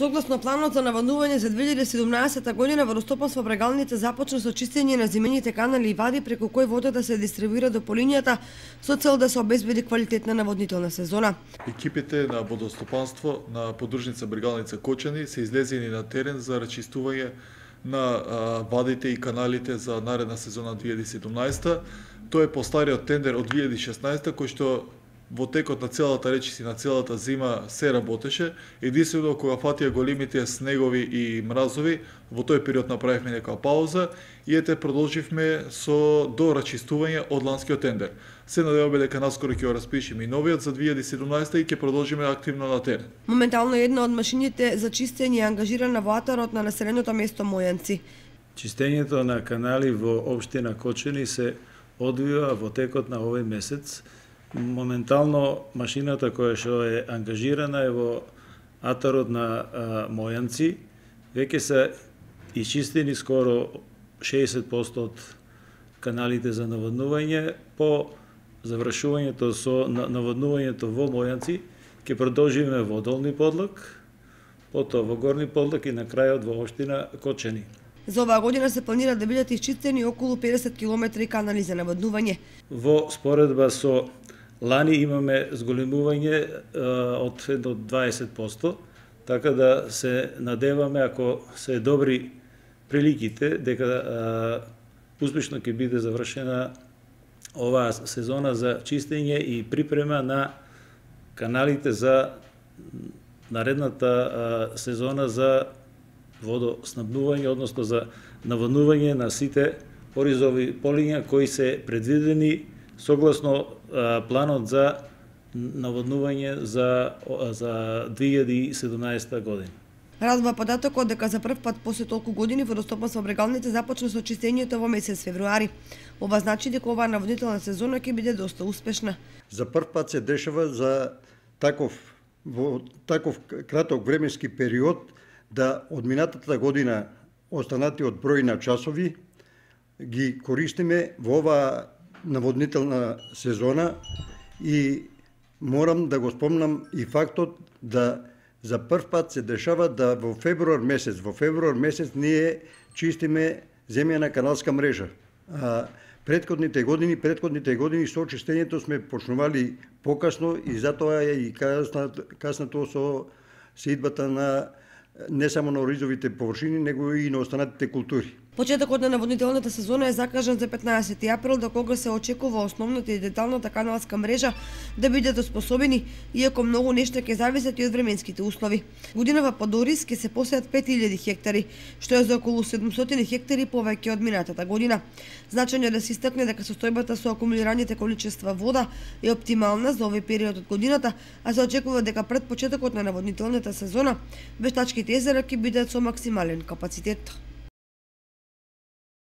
Согласно планот за наводнување за 2017 година, водостопанство во Брегалница започна со чистење на зимените канали и вади преку кои водата се дистрибуира до полињата со цел да се обезбеди квалитетна наводнителна сезона. Екипите на водостопанство на подружница Брегалница Кочани се излезени на терен за рачистување на вадите и каналите за наредна сезона 2017. Тоа е по стариот тендер од 2016 кој што во текот на целата речиси на целата зима се работеше, единствено кога фатија големите снегови и мразови, во тој период направивме нека пауза и продолживме со дорачистување од ланскиот тендер. Се надеваме дека наскоро ќе го распишеме и новиот за 2017 и ќе продолжиме активно на терен. Моментално една од машините за чистење е ангажирана во атарот на населеното место Мојанци. Чистењето на канали во општина Кочани се одвива во текот на овој месец. Моментално машината која што е ангажирана е во атарот на Мојанци. Веќе се исчистени скоро 60% од каналите за наводнување. По завршувањето со наводнувањето во Мојанци ќе продолжиме во Долни Подлак, потоа во Горни Подлак и на крајот во општина Кочани. За оваа година се планира да бидат исчистени околу 50 км канали за наводнување. Во споредба со лани имаме зголемување од 20%, така да се надеваме, ако се добри приликите, дека успешно ќе биде завршена оваа сезона за чистење и припрема на каналите за наредната сезона за водоснабдување, односно за наводнување на сите оризови полиња кои се предвидени согласно планот за наводнување за 2017 година. Радува податокот дека за прв пат после толку години водостопанство Брегалница започна со чистењето во месец февруари. Ова значи дека оваа наводнителна сезона ќе биде доста успешна. За прв пат се дешава за во таков краток временски период да од минатата година останатиот број на часови ги користиме во оваа наводнителна сезона и морам да го спомнам и фактот да за прв пат се дешава да во февруар месец ние чистиме земјана каналска мрежа. Претходните години со чистењето сме почнували покасно и затоа е и каснато со сеидбата на не само на оризовите површини, него и на останатите култури. Почетокот на наводнителната сезона е закажан за 15 април, до кога се очекува основната и деталната каналска мрежа да бидат оспособени, иако многу нешто ќе зависат и од временските услови. Годинава под ориз ќе се посеат 5000 хектари, што е за околу 700 хектари повеќе од минатата година. Значајно е да се истакне дека состојбата со акумулираните количества вода е оптимална за овој период од годината, а се очекува дека пред почетокот на наводнителната сезона вештачките езера ќе бидат со максимален капацитет.